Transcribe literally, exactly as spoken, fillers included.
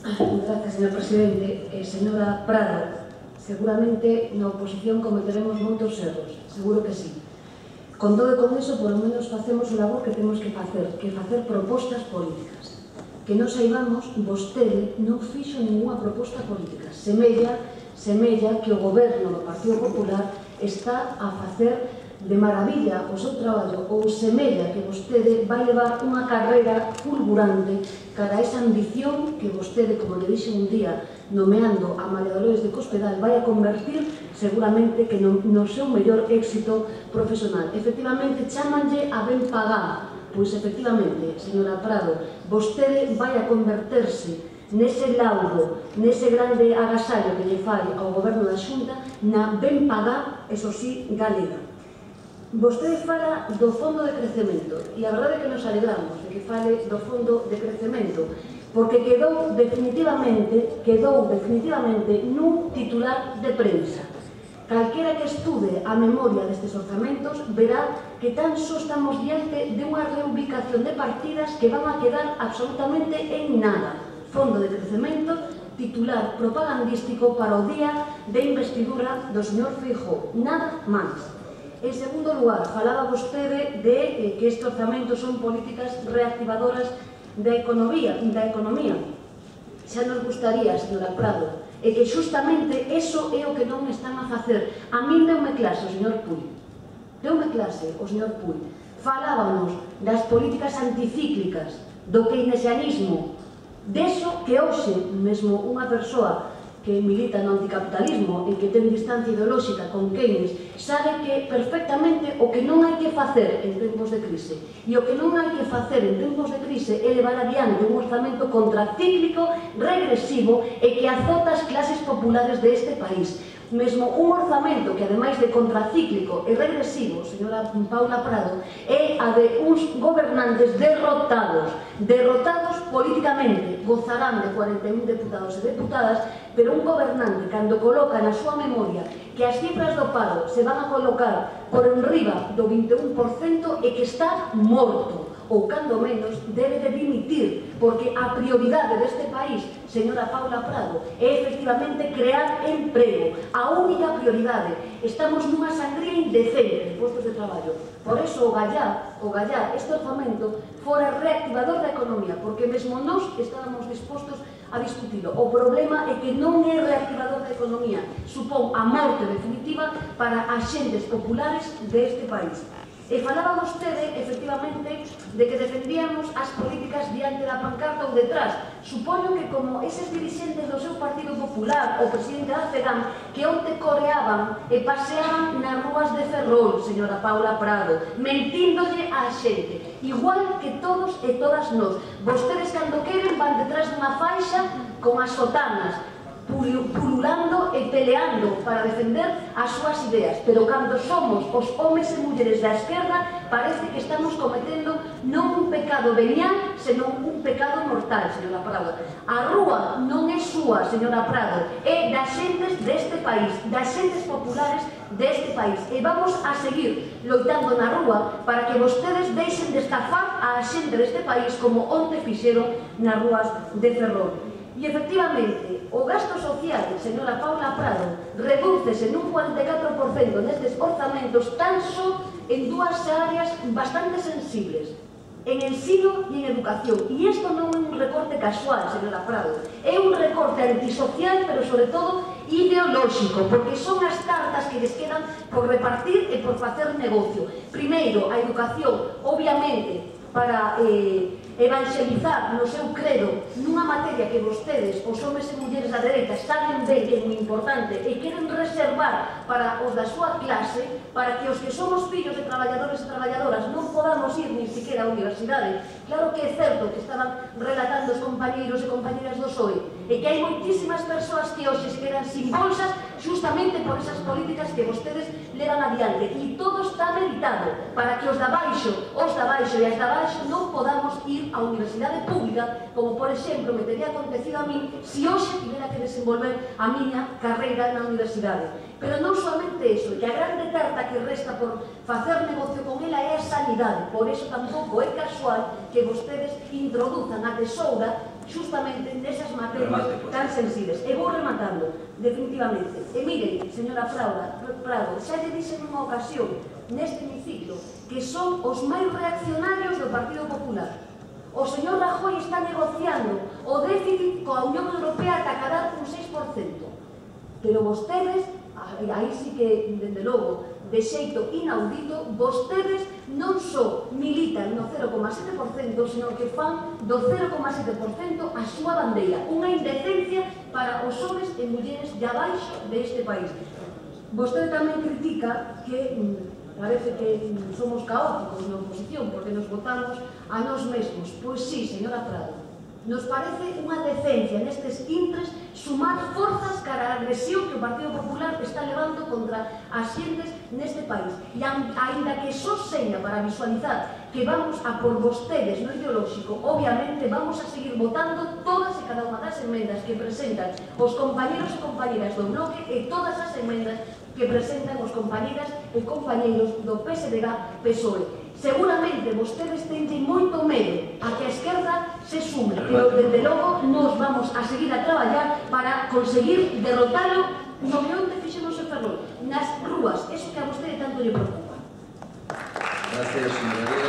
Gracias, señor presidente. Eh, señora Prado, seguramente na oposición cometeremos moitos erros, seguro que sí. Con todo e con iso, por lo menos facemos o labor que temos que facer, que facer propostas políticas. Que non saibamos, vostede non fixo ninguna proposta política. Semella, semella que o goberno do Partido Popular está a facer de maravilla o seu traballo, ou semella que vostede vai levar unha carreira fulgurante cara a esa ambición que vostede, como le dixe un día, nomeando a María Dolores de Cospedal, vai a convertir seguramente que no, no seu mellor éxito profesional. Efectivamente, chámanlle a ben pagar. Pois, efectivamente, señora Prado, vostede vai a converterse nese laudo, nese grande agasallo que lle fai ao goberno da Xunta, na ben pagar, eso sí, galega. Vostede fala do fondo de crecemento, e a verdade é que nos alegramos de que fale do fondo de crecemento, porque quedou definitivamente, quedou definitivamente nun titular de prensa. Calquera que estude a memoria destes orzamentos verá que tan só estamos diante de unha reubicación de partidas que van a quedar absolutamente en nada. Fondo de crecemento, titular propagandístico para o día de investidura do señor Feijóo, nada máis. En segundo lugar, falaba vostede de eh, que estes orzamentos son políticas reactivadoras da economía, da economía. Xa nos gustaría, señora Prado, e que justamente eso é o que non están a facer. A min deume clase o señor Puig. Deume clase o señor Puig. Falábamos das políticas anticíclicas, do keynesianismo, deso que hoxe mesmo unha persoa que milita no anticapitalismo e que ten distancia ideolóxica con Keynes sabe que perfectamente o que non hai que facer en tempos de crise e o que non hai que facer en tempos de crise é levar adiante un orzamento contracíclico, regresivo e que azota as clases populares deste país. Mesmo un orzamento que, ademais de contracíclico e regresivo, señora Paula Prado, é a de uns gobernantes derrotados, derrotados políticamente, gozarán de cuarenta e un deputados e deputadas, pero un gobernante, cando coloca na súa memoria que as cifras do paro se van a colocar por enriba do vinte e un por cento e que está morto, ou cando menos debe de dimitir, porque a prioridade deste país, señora Paula Prado, é efectivamente crear emprego. A única prioridade. Estamos nunha sangría indecente de postos de traballo. Por eso o Gallá, o Gallá, este orzamento, fora reactivador da economía, porque mesmo nós estábamos dispostos a discutilo. O problema é que non é reactivador da economía. Supón a morte definitiva para as xentes populares deste país. E falaba vostede, efectivamente, de que defendíamos as políticas diante da pancarta ou detrás. Supoño que como eses dirixentes do seu Partido Popular, o presidente da FEGAM, que onte coreaban e paseaban nas rúas de Ferrol, señora Paula Prado, mentíndolle á xente, igual que todos e todas nós. Vostedes, cando queren, van detrás dunha faixa con as sotanas, pululando e peleando para defender as súas ideas, pero cando somos os homes e mulleres da esquerda parece que estamos cometendo non un pecado venial, senón un pecado mortal, señora Prado. A rúa non é súa, señora Prado, é das xentes deste país, das xentes populares deste país, e vamos a seguir loitando na rúa para que vostedes deixen de estafar a xente deste país como onte fixeron nas rúas de Ferrol. E, efectivamente, o gasto social, señora Paula Prado, redúcese nun cuarenta e catro por cento nestes orzamentos tan só en dúas áreas bastante sensibles, en ensino e en educación. E isto non é un recorte casual, señora Prado, é un recorte antisocial, pero sobre todo ideolóxico, porque son as cartas que les quedan por repartir e por facer negocio. Primeiro, a educación, obviamente, para eh, evangelizar no seu credo nunha materia que vostedes, os homes e mulleres da dereita, saben ben que é moi importante e queren reservar para os da súa clase, para que os que somos fillos de traballadores e traballadoras non podamos ir nin siquiera á universidade. Claro que é certo que estaban relatando os compañeiros e compañeras do P S O E e que hai moitísimas persoas que hoxe se quedan sin bolsas justamente por esas políticas que vostedes levan adiante, e todo está meditado para que os da baixo, os da baixo e as da baixo non podamos ir á universidade pública, como por exemplo me teria acontecido a mí se hoxe tivera que desenvolver a miña carreira na universidade. Pero non somente iso, que a grande tarta que resta por facer negocio con ela é a sanidade. Por iso tampouco é casual que vostedes introduzan a tesoura justamente nesas materias tan sensibles. E vou rematando, definitivamente. E miren, señora Prado, xa lle dixen nunha ocasión neste hemiciclo que son os máis reaccionarios do Partido Popular. O señor Rajoy está negociando o déficit coa Unión Europea ata cadar un seis por cento. Pero vostedes, aí sí que, dende logo, de xeito inaudito, vostedes non só militan no cero coma sete por cento, senón que fan do cero coma sete por cento a súa bandeira. Unha indecencia para os homes e mulleres de abaixo deste país. Vostede tamén critica que parece que somos caóticos na oposición porque nos votamos a nós mesmos. Pois sí, señora Prado, nos parece unha decencia nestes intres sumar forzas cara a agresión que o Partido Popular está levando contra as xentes neste país. E aínda que só seña para visualizar que vamos a por vostedes no ideolóxico, obviamente vamos a seguir votando todas e cada unha das enmendas que presentan os compañeros e compañeras do bloque e todas as enmendas que presentan os compañeras e compañeiros do P S D G P S O E. Seguramente vostedes teñen moito medo a que a esquerda se sume, pero desde logo nos vamos a seguir a traballar para conseguir derrotalo no que onde fixemos en Ferrol, nas rúas, eso que a vostede tanto lle preocupa. Gracias, señora.